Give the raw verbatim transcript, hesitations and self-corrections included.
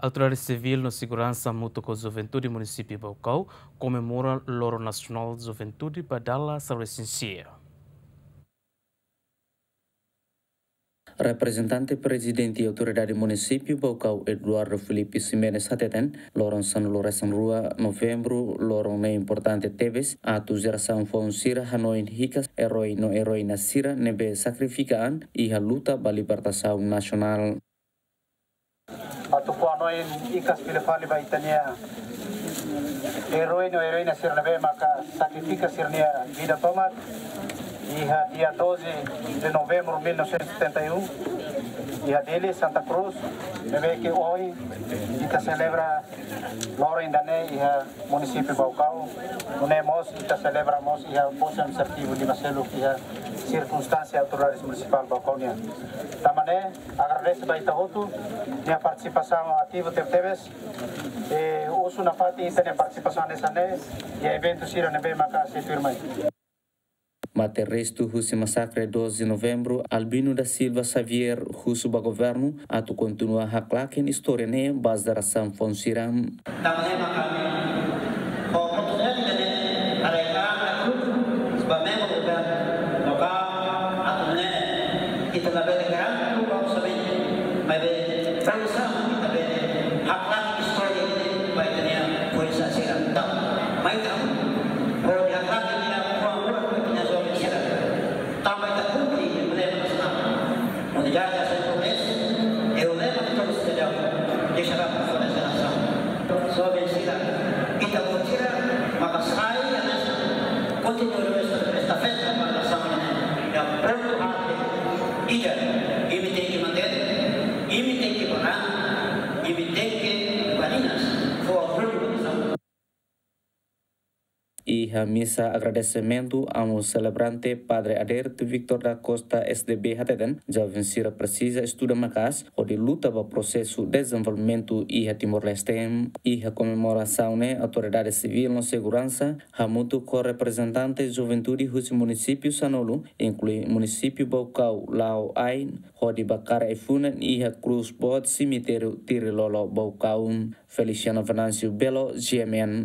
Autoridade Sivíl no Seguransa hamutuk ho Juventude Munisípiu Baucau komemora Loron Nasionál Juventude ba dala sanulu-resin-sia. Reprezentante Prezidente Autoridade Munisípiu Baucau, Eduardo Filipe Ximenes, hateten, loron sanulu-resin-rua Novembru, loron ne'e importante tebes, atu jerasaun foun sira hanoin hikas erói no eróina sira ne'ebé sakrifika an iha luta ba libertasaun nasionál. Atu fó hanoin hikas fila fali ba ita-nia erói no eróina sira ne'ebé maka sakrifika sira-nia vida tomak iha dia doze de novembro mil novecentos e setenta e um, iha Dili, Santa Cruz, ne'ebé ke ohin ita selebra loron ida-ne'e iha Munisípiu Baucau, nune'e mós ita selebra mós iha Postu Administrativu Limaseluk iha sirkunstánsia Autoridade Munisipál Baucau nian. Tanba ne'e, agradese ba ita hotu nia partisipasaun ativu tebetebes, i husu nafatin ita-nia partisipasaun hanesan ne'e iha eventu sira ne'ebé maka sei tuirmai. Mate restu husi masakre doze de Novembru, Albino da Silva Xavier husu ba governu atu kontinua haklaken istória ne'e ba jerasaun foun sira. Tanba ne'e maka ami ho oportunidade ida-ne'e, haree katak grupu ba membru governu lokál atu nune'e ita labele garantu ba orsamentu, maibé produsaun ita bele haklaken istória ida-ne'e ba ita-nia foin-sa'e sira. Tanba mai ita hodi haklaken ita-nia fuan moras ba ita-nia joven sira. Tanba ita kumpre emblema nasionál. Unidade, ação e progresso é o lema de todos os federados. Deixará para fora a geração. Joven sira, ita-boot sira maka sai hanesan kontinua esta-, estafeta ba nasaun ne'e. Ita prontu hati ida, imi tenke mantein, imi tenke barak, imi tenke badinas, fó orgullu ba nasaun. Iha misa agradesimentu, amu selebrante Padre Adérito Victor da Costa, S D B, hateten, joven sira presiza estuda maka'as hodi luta ba prosesu dezenvolvimentu iha Timor-Leste. Iha komemorasaun ne'e, Autoridade Sivíl no Seguransa hamutuk ho reprezentante juventude husi munisípiu sanulu, inklui munisípiu Baucau, la'o ain, hodi bakar ai-funan iha krús boot semitériu Tirilolo, Baucau. Feliciano Venâncio Belo, G M N.